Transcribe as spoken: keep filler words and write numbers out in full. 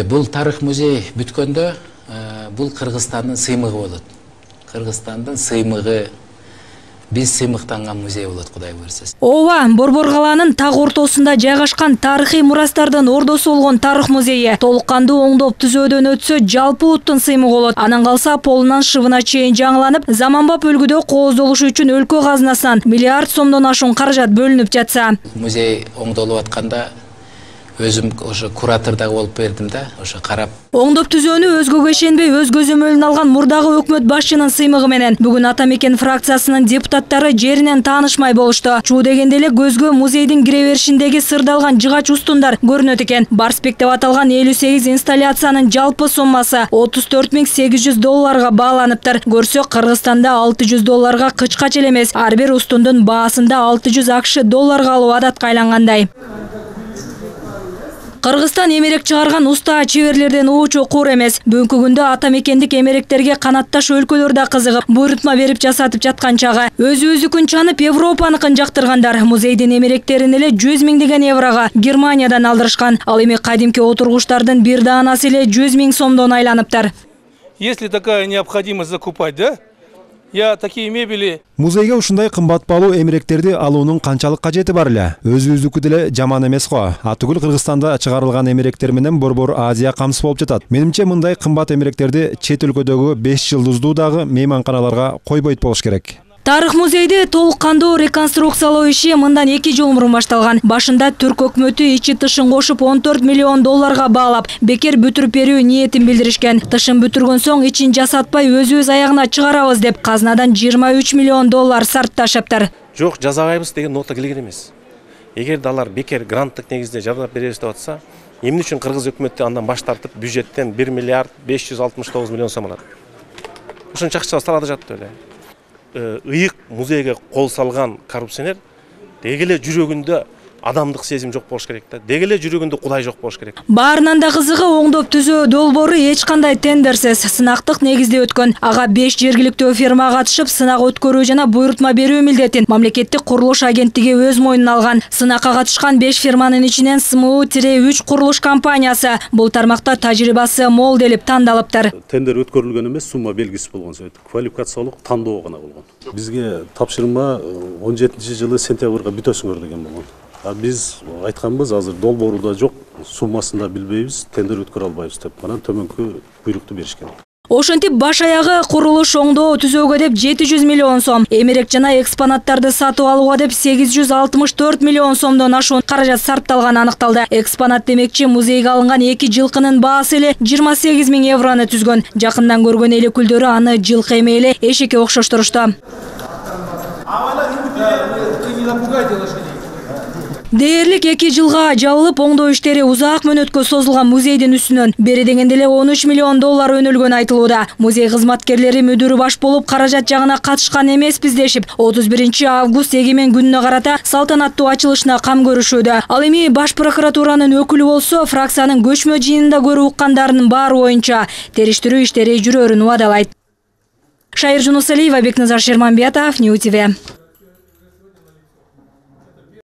Бул тарых музей бүткөндө бул Кыргызстандын сыймыгы болот. Кыргызстандын сыймыгы, биз сыймыктанган музей болот, Кудай буйрса. Ооба, Борбор калаанын так ортосунда жайгашкан тарыхый мурастардын ордосу болгон тарых музейи толук кандуу оңдоп түзөөдөн өтсө жалпы уттун сыймыгы болот. Анан калса полунан шыбына чейин жаңыланып, заманбап өлкөдө кооздолушу үчүн өлкө казынасынан миллиард сомдон ашуун каражат бөлүнүп жатса. Музей оңдолуп атканда өзүм ошо куратор дагы болуп бердим да, ошо карап. Оңдоп түзөөнү өзгөгө ишенбей, өз көзөмөлүн алган мурдагы өкмөт башчынын сыймыгы менен бүгүн Ата Мекен фракциясынын депутаттары жеринен таанышмай болушту. Чуу дегенде эле көзгө музейдин кире беришиндеги сырдалган жыгач устундар көрүнөт экен. Барспек деп аталган элүү сегиз инсталляциянын жалпы суммасы отуз төрт миң сегиз жүз долларга бааланыптыр. Көрсөк, Кыргызстанда алты жүз долларга кычкач эле эмес, ар бир устундун баасында алты жүз акш долларга алуу адатка айлангандай. Кыргызстан эмерек чыгарган уста чеберлерден уучу куур эмес. Бүгүнкү күндө Ата Мекендик эмеректерге канатташ өлкөлөр да кызыгып, буйрутма берип жасатып жаткан чагы. Өзүбүздүкүн чанып, Европаныкын жактыргандар музейдин эмеректерин эле жүз миңдеген еврого Германиядан алдырышкан. Ал эми кадимки отургучтардын бир даанасы эле жүз миң сомдон айланыптыр. Если такая необходимость закупать, да? Я такие мебели. Музейге ушундай кымбат баалуу эмеректерди алуунун канчалык кажети бар эле? Өзүбүздүкү деле жаман эмес го. Атүгүл Кыргызстанда чыгарылган эмеректер менен Борбор Азия камсыз болуп жатат. Менимче мындай кымбат эмеректерди чет өлкөдөгү беш жылдыздуу дагы мейманканаларга койбойт болуш керек. Тарых музейди толук кандуу реконструкциялоо иши мындан эки жыл мурун башталган. Башында түрк өкмөтү ичи тышын кошуп он төрт миллион долларга баалап, бекер бүтүрүп берүү ниетин билдиришкен. Тышын бүтүргөн соң ичин жасатпай өзүбүз аягына чыгарабыз деп казынадан жыйырма үч миллион доллар сарпташыптыр. Жок, жазабайбыз деген нота келген эмес. Эгер далар бекер гранттык негизде жардап беребиз деп атса, эмне үчүн кыргыз өкмөтү андан баш тартып бюджеттен бир миллиард беш жүз алтымыш тогуз миллион сом алат. Ушунча акча салады жатты эле. Ыйык музейге кол салган коррупционер деги эле жүрөгүндө адамдык сезим жок болуш керек да. Деги эле жүрөгүндө Кудай жок болуш керек. Баарынан да кызыгы, оңдоп түзөө долбоору эч кандай тендерсиз, сынактык негизде өткөн. Ага беш жергиликтүү фирма катышып, сынак өткөрүү жана буйрутма берүү милдетин мамлекеттик курулуш агенттиги өз мойнуна алган. Сынакка катышкан беш фирманын ичинен эс эм у үч курулуш компаниясы бул тармакта тажрыйбасы мол делип тандалыптыр. Тендер өткөрүлгөн эмес, сумма белгисиз болгон сөйт. Квалификациялык тандоо гана болгон. Бизге тапшырма он жетинчи жылы сентябрга бүтөсүңөр деген болгон. Биз айтканбыз, азыр долбоору да жок, суммасын да билбейбиз, тендер өткөрө албайбыз деп, анан төмөнкү буйрукту беришкен. Ошентип баш аягы курулуш оңдоо түзөөгө деп жети жүз миллион сом, эмерек жана экспонаттарды сатып алууга деп сегиз жүз алтымыш төрт миллион сомдон ашуун каражат сарпталганы аныкталды. Экспонат демекчи, музейге алынган эки жылкынын баасы эле жыйырма сегиз миң еврону түзгөн. Жакындан көргөн эл өкүлдөрү аны жылкы эмей эле эшикке окшоштурушту. Дээрлик эки жылга жабылып, оңдоо иштери узак мөөнөткө созулган музейдин үстүнөн бери дегенде эле он үч миллион доллар өнүлгөн айтылууда. Музей кызматкерлери мүдүрү баш болуп каражат жагына катышкан эмеспиз дешип, отуз биринчи август эгемен күнүнө карата салтанаттуу ачылышына кам көрүшүүдө. Ал эми баш прокуратуранын өкүлү болсо, фракциянын көчмө жыйынында көрүп уккандарынын баары боюнча териштирүү иштери жүрөөрүн убадалайт. Шайыр Жунусалиева, Бекназар Шерманбетов, Нью ТВ.